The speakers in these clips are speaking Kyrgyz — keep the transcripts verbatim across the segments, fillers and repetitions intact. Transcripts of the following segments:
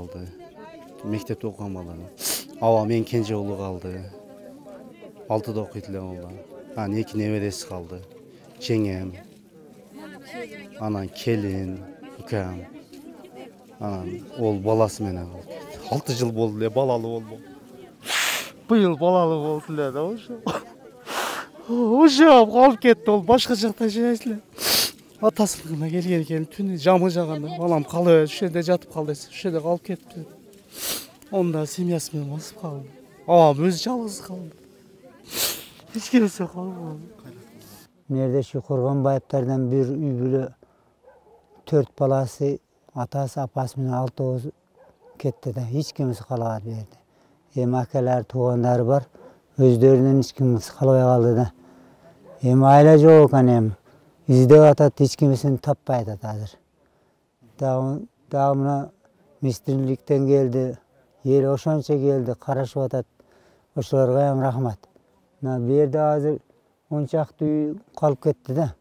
калды. Мектепте окуган бала. Аба менин кенже уулу калды. алтыда окуйт эле ол. Анан эки небереси калды. Жеңем. Анан келин, укам. Анан ол баласы менен калды. алты жыл болду эле балалуу болду. Быйыл балалуу болду эле да ошо. Ошо калып кетти, ол башка жакта жашайт эле. Атасыныкына келген экен, түнү жамы жаганда балам калып ошол жерде жатып кал десе, ошол жерде калып кетти. Онда семьясы менен басып калды. Абам өзү жалгыз калды. Эч кимиси калбады. Мээрдеши Курганбаевтерден бир үй бүлө төрт баласы, атасы, апасы менен алтоос кетти да, эч кимиси калбады бу жерде. Эми акалар, туугандары бар, өздөрүнөн эч кимиси калбай калды да. Эми айла жок экен эми. Издеп атат, эч кимисин таппай атат азыр. Дагы дагы мына министрликтен келди, эл ошончо келди, карашып атат. Ошолорго эми рахмат. Мына бу жерде азыр он чакты үй калып кетти да.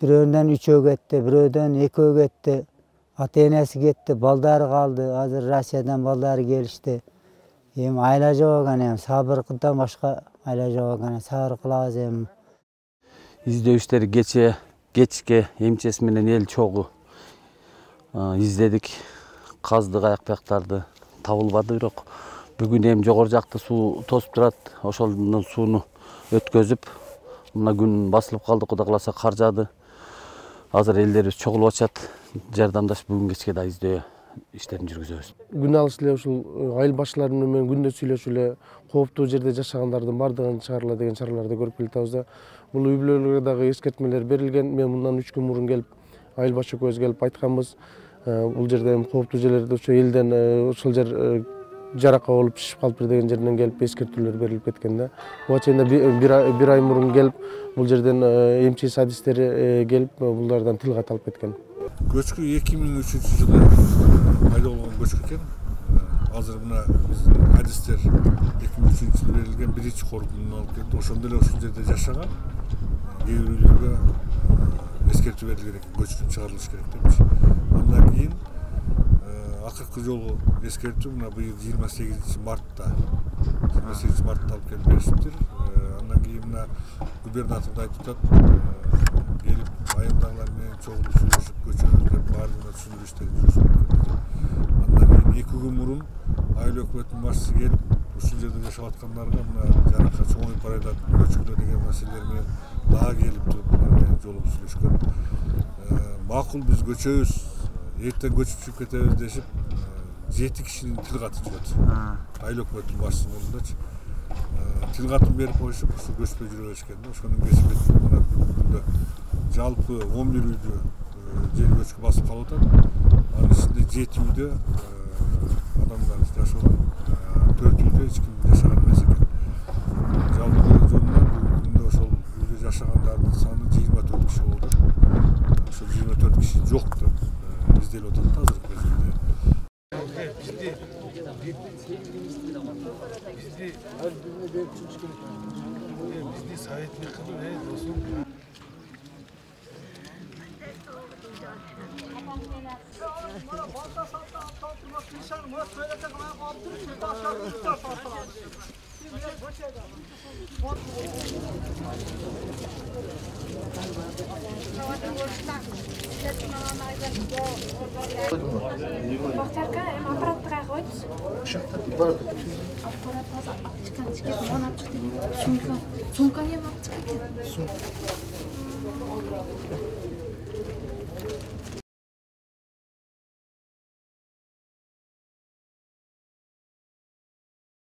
Бирөөндөн үчөө кетти, бирөөдөн экөө кетти. Ата-энеси кетти, балдары калды. Азыр Россиядан балдары келишти. Эми айла жок экен, эми сабырдан башка айла жок экен. Сабыр кылабыз эми. Издөө иштери кече, кечке эмчеси менен эл чогуу издедик. Каздык аяк бияктарды табылбады, бирок бүгүн эми жогору жакта суу тосуп турат. Ошолдун сууну өткөзүп, мына күн басылып калды, Кудай кааласа кар жаады. Азыр элдерибиз чогулуп атышат. Жардамдашып бүгүн кечке да издөө иштерин жүргүзөбүз. Күн алыш эле ушул айыл башчылары менен күндө сүйлөшүп эле кооптуу жерде жашагандардын бардыгын чыгарыла деген чараларды көрүп келатабыз да. Бул үй бүлөлөргө дагы эскертмелер берилген. Мен мындан үч күн мурун келип, айыл баш экөөбүз келип айтканбыз. Бул жерде эми кооптуу жерлерде ошо элден ошол жер жаракка болуп шишип калыптыр деген жерден келип эскертүүлөр берилип кеткен да. Буга чейин бир ай мурун келип, бул жерден эмчи адистери келип, булардан тил кат алып кеткен. Көчкү эки миң үчүнчү жылы пайда болгон көчкү экен. Азыр мына биздин адистер эки миң үчүнчү жылы берилген биринчи коркунун алып келди. Ошондо эле ошол жерде жашаган кээ бир үйлөргө эскертүү берилген экен, көчкү чыгарылыш керек депчи. Андан кийин акыркы жолу эскертүү мына быйыл жыйырма сегизинчи мартта жыйырма сегизинчи мартта алып келип беришиптир. Андан кийин мына губернатор да айтып атат, келип айылдагылар менен чогулуп сүйлөшүп көчөбүз деп баардыгына түшүндүрүү иштерин жүргүзүп атканбыз. Андан кийин эки күн мурун айыл өкмөтүнүн башчысы келип, ушул жерде жашап аткандарга мына жаракка чоңоюп баратат, көчкүлө деген маселелер менен дагы келип туруп булар менен жолугуп сүйлөшкөн. Макул биз көчөбүз, эртең көчүп чыгып кетебиз дешип, жети кишинин тил каты жүрөт. Айыл өкмөтүнүн башчысынын ордундачы. Тил катын берип коюшуп, ушу көчпөй жүрө беришкен да. Ошонун кесипетинде мына бүгүндө жалпы он бир үйдө жер көчкү басып калып атат. Анын ичинде жети үйдө адамдар жашаган, төрт үйдө эч ким жашаган эмес экен. Жалпы жөнүнөн бүгүндө ошол үйдө жашагандардын саны жыйырма төрт киши болду. Ошол жыйырма төрт киши жок деп изделип атат да азыркы кезекте. Бизди бизди советник кылып, э, досум. Бактарка эми аппаратты кайга койдуз? Аппарат азыр алып чыккан, чекесин алып чыкты. Сумка, сумканы эми алып чыккан экен.